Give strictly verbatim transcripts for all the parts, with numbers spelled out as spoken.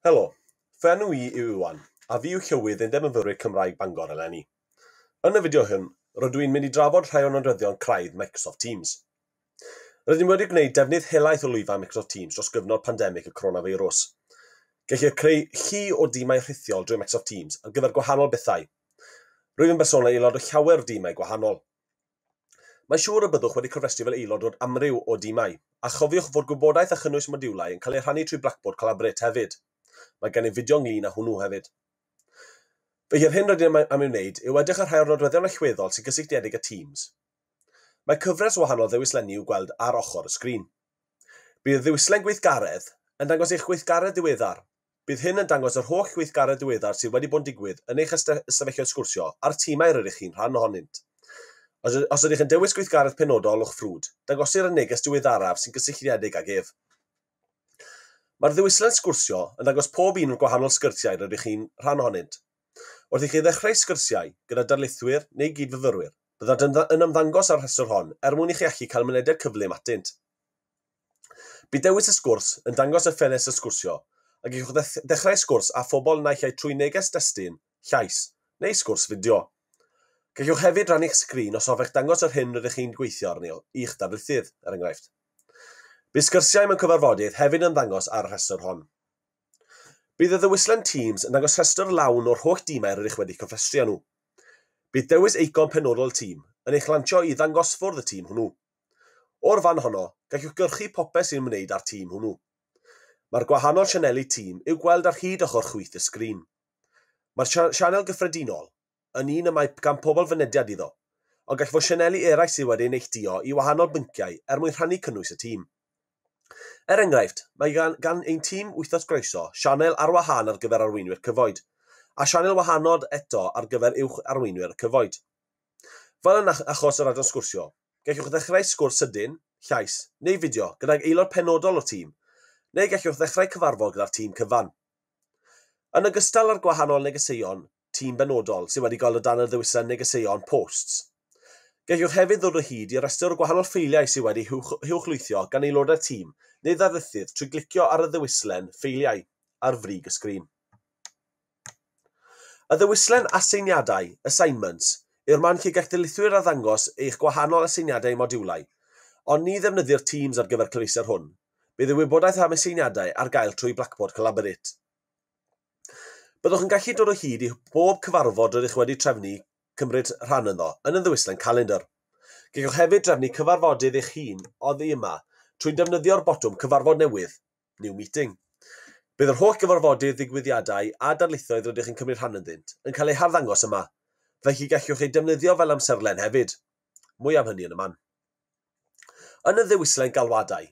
Helo, fy enw i yw Iwan, a fi yw Llywydd Undeb Myfyrwyr Cymraeg Bangor eleni. Yn y fideo hwn, rydw i'n mynd i drafod rhai o nodweddion craidd Microsoft Teams. Rydym wedi gwneud defnydd helaeth o lwyfan Microsoft Teams dros gyfnod pandemig y coronafeirws. Gellir creu llu o dimau rhithiol drwy Microsoft Teams ar gyfer gwahanol bethau. Rwyf yn bersonol aelod o llawer o dimau gwahanol. Mae'n siŵr y byddwch wedi cofrestru fel aelod o'r amryw o dimau, a chofiwch fod gwybodaeth a chynnwys modiwlau yn cael eu rhannu trwy Blackboard Collaborate hefyd. Mae gennym fideo ynglyn â hwnnw hefyd. Felly yr hyn rydym am ei wneud yw edrych ar rhai o'r nodweddion allweddol sy'n gysylltiedig â Teams. Mae cyfres o wahanol ddewislenni i'w gweld ar ochr y sgrin. Bydd y ddewislen gweithgaredd yn dangos eich gweithgaredd diweddar. Bydd hyn yn dangos yr holl gweithgaredd diweddar sydd wedi bod yn digwydd yn eich ystafelloedd sgwrsio a'r timau rydych chi'n rhan ohonynt. Os, os ydych yn dewis gweithgaredd penodol o'ch ffrwd, dangosir y neges diweddaraf sy'n gysylltiedig ag ef. Mae'r ddewislen sgwrsio yn dangos pob un o'r gwahanol sgyrsiau rydych chi'n rhan ohonynt. Wrth i chi ddechrau sgyrsiau gyda darlithwyr neu gydfyfyrwyr, byddant yn ymddangos ar rhestr hon er mwyn i chi allu cael mynediad cyflym atynt. Bydd dewis y sgwrs yn dangos y ffenestr sgwrsio, a gallwch ddechrau sgwrs â phobl naill ai trwy neges destun, llais neu sgwrs fideo. Gallwch hefyd rannu'ch sgrin os hoffech dangos yr hyn rydych chi'n gweithio arni i'ch darlithydd, er enghraifft. Bydd sgyrsiau mewn cyfarfodydd hefyd yn ddangos ar y rhestr hon. Bydd y ddewislen Teams yn dangos rhestr lawn o'r holl dimau rydych wedi cofrestru â nhw. Bydd dewis eicon penodol tîm yn eich lansio i ddangosfwrdd y tîm hwnnw. O'r fan honno, gallwch gyrchu popeth sy'n ymwneud â'r tîm hwnnw. Mae'r gwahanol sianeli tîm i'w gweld ar hyd ochr chwith y sgrin. Mae'r sianel gyffredinol yn un y mae gan pobl fynediad iddo, ond gall fod sianeli eraill sydd wedi neilltuo i wahanol bynciau er mwyn rhannu cynnwys y tîm. Er enghraifft, mae gan, gan ein tîm Wythnos Groeso sianel ar wahân ar gyfer arweinwyr cyfoed, a sianel wahanol eto ar gyfer uwch arweinwyr cyfoed. Fel yn achos yr adran sgwrsio, gallwch ddechrau sgwrs sydyn, llais neu fideo gydag aelod penodol o'r tîm, neu gallwch ddechrau cyfarfod gyda'r tîm cyfan. Yn ogystal â'r gwahanol negeseuon tîm benodol sydd wedi gael o dan y ddewislen negeseuon posts, gallwch hefyd ddod o hyd i restr o gwahanol ffeiliau sydd wedi huwchlwythio gan aelodau'r tîm neu ddarlithydd trwy glicio ar y ddewislen ffeiliau ar frig y sgrin. Y ddewislen aseiniadau, assignments, yw'r man lle gall darlithwyr arddangos eich gwahanol aseiniadau modiwlau, ond ni ddefnyddir Teams ar gyfer cyfleuster hwn. Bydd y wybodaeth am aseiniadau ar gael trwy Blackboard Collaborate. Byddwch yn gallu dod o hyd i bob cyfarfod rydych wedi trefnu cymryd rhan ynddo yn y ddewislen calendar. Gallwch hefyd drefnu cyfarfodydd eich hun oddi yma trwy defnyddio'r botwm cyfarfod newydd, New Meeting. Bydd yr holl gyfarfodydd, ddigwyddiadau a darlithoedd rydych yn cymryd rhan ynddynt yn cael eu harddangos yma, felly gallwch eu defnyddio fel amserlen hefyd. Mwy am hynny yn y man. Yn y ddewislen galwadau,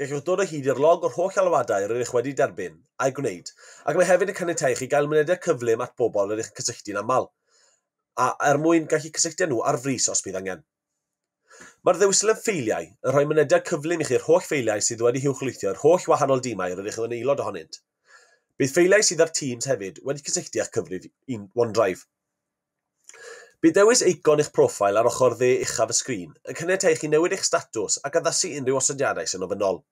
gallwch dod o hyd i'r log o'r holl alwadau rydych wedi derbyn a'i gwneud, ac mae hefyd yn caniatáu i chi gael mynediad cyflym at bobl rydych yn cysylltu'n aml, a er mwyn gallu cysylltu â nhw ar frys os bydd angen. Mae'r ddewislen ffeiliau yn rhoi mynediad cyflym i chi'r holl ffeiliau sydd wedi huwchlwythio i'r holl wahanol dimau rydych yn aelod ohonynt. Bydd ffeiliau sydd ar Teams hefyd wedi cysylltu â'ch cyfrif OneDrive. Bydd dewis eicon eich profil ar ochr dde uchaf y sgrin yn caniatáu i chi newid eich statws ac addasu unrhyw osodiadau sy'n ofynnol.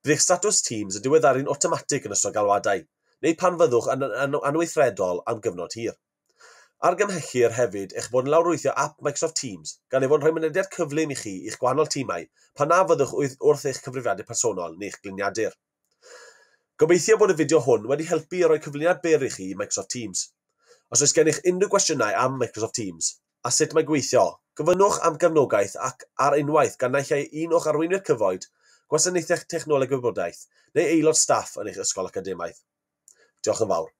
Bydd eich statws Teams yn diweddaru'n awtomatig yn ystod galwadau, neu pan fyddwch yn anweithredol am gyfnod hir. Argymhellir hefyd eich bod yn lawrlwytho app Microsoft Teams, gan ei fod yn rhoi mynediad cyflym i chi i'ch gwahanol tîmau pan na fyddwch wrth eich cyfrifiadur personol neu'ch gliniadur. Gobeithio bod y fideo hwn wedi helpu i roi cyflwyniad byr i chi i Microsoft Teams. Os oes gennych unrhyw gwestiynau am Microsoft Teams a sut mae gweithio, gofynnwch am gefnogaeth ac ar unwaith gan naill ai un o'ch arweinwyr cyfoed, gwasanaethau technoleg gwybodaeth neu aelod staff yn eich ysgol academaidd. Diolch yn fawr.